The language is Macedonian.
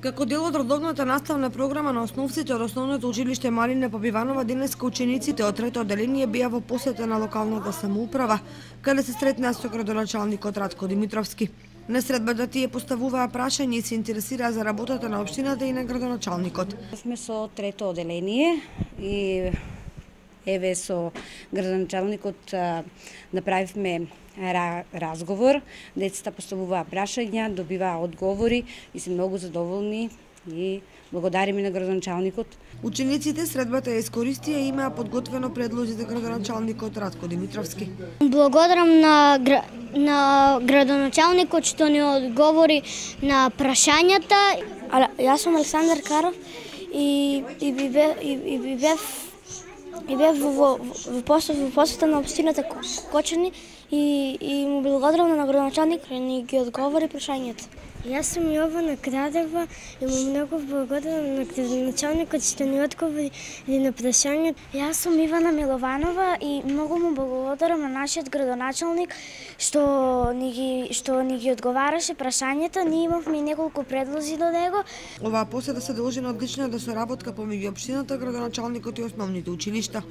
Како дел од редовната наставна програма на основците од Основното училиште Марина Побиванова, денеска учениците од трето одделение беа во посета на локалната самоуправа, каде се сретнаа со градоначалникот Радко Димитровски. На средбата тие поставуваа прашања и се интересираа за работата на општината и на градоначалникот. Сме со трето одделение и еве со градоначалникот направивме разговор, децата поставуваа прашања, добиваа одговори и се многу задоволни и благодариме на градоначалникот. Учениците средбата ја искористија и имаа подготвено предлози за градоначалникот Радко Димитровски. Благодарам на градоначалникот што ни одговори на прашањата. Јас сум Александар Каров и бев во посета на општината Кочани и му благодарам на градоначалник и ни ги одговори прашањата. Јас сум Јована Крадева и му многу благодарам на градоначалникот што ни одговори на прашањата. Јас сум Ивана Милованова и многу му благодарам на нашиот градоначалник што ни ги одговараше прашањата. Ние имавме неколку предлози до него. Оваа посета се должи на одличната соработка помеѓу општината, градоначалникот и основните училишта.